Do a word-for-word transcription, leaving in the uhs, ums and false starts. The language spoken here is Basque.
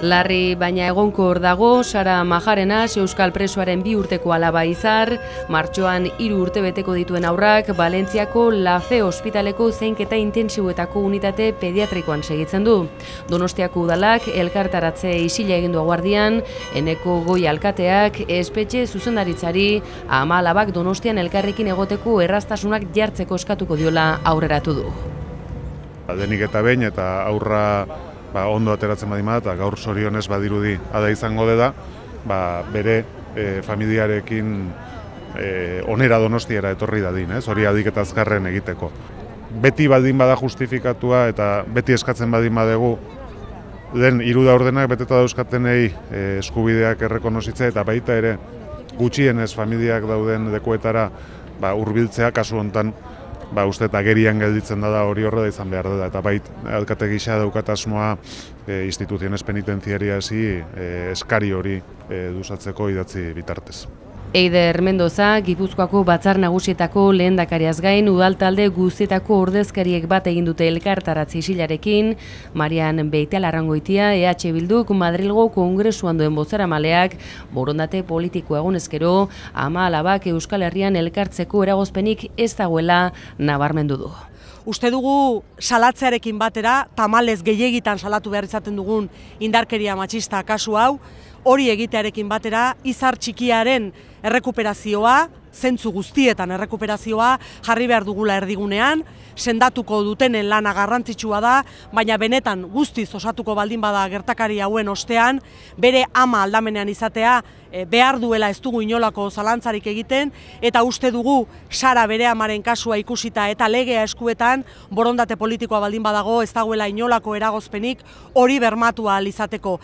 Larri baina egonkor dago Sara Majarenas, euskal presoaren bi urteko alaba izar, martxoan hiru urte beteko dituen haurrak, Valentziako Lafe ospitaleko zeinketa intentsiboetako unitate pediatrikoan segitzen du. Donostiako udalak elkartaratze isila egin du guardian, Eneko Goi alkateak espetxe zuzendaritzari ama alabak Donostian elkarrekin egoteko erraztasunak jartzeko eskatuko diola aurreratu du. Denik eta behin eta aurra Ba, ondo ateratzen badima eta gaur zorionez badirudi ada izango da, ba, bere e, familiarekin e, onera Donostiara etorri dadin, ez? Hori adik eta azkarren egiteko. Beti badin bada justifikatua eta beti eskatzen badin badegu den hiru ordenak beteta dauzkatenei e, eskubideak errekonozitzea eta baita ere gutxienez familiak dauden lekuetara ba, hurbiltzea kasu hontan. Ba, uste eta gerian gelditzen da hori horre da izan behar da, eta bait, alkate gisa daukat asmoa e, instituziones penitenziariasi e, eskari hori e, duzatzeko idatzi bitartez. Eider Mendoza, Gipuzkoako Batzar Nagusietako lehendakariaz gain, udaltalde guztietako ordezkariek bat egin dute elkartaratze isilarekin, Marian Beitialarrangoitia, E H Bilduk, Madrilgo Kongresuan duen bozeramaleak, borondate politiko egunezkero, ama alabak Euskal Herrian elkartzeko eragozpenik ez dagoela nabarmendu du. Uste dugu salatzearekin batera, tamalez gehiegitan salatu behar izaten dugun indarkeria matxista kasu hau, hori egitearekin batera, izar txikiaren errekuperazioa, zentzu guztietan errekuperazioa jarri behar dugula erdigunean, sendatuko dutenen lana garrantzitsua da, baina benetan guztiz osatuko baldin bada gertakari hauen ostean, bere ama aldamenean izatea e, behar duela ez dugu inolako zalantzarik egiten, eta uste dugu Sara bere amaren kasua ikusita eta legea eskuetan, borondate politikoa baldin badago ez dagoela inolako eragozpenik hori bermatu ahal izateko.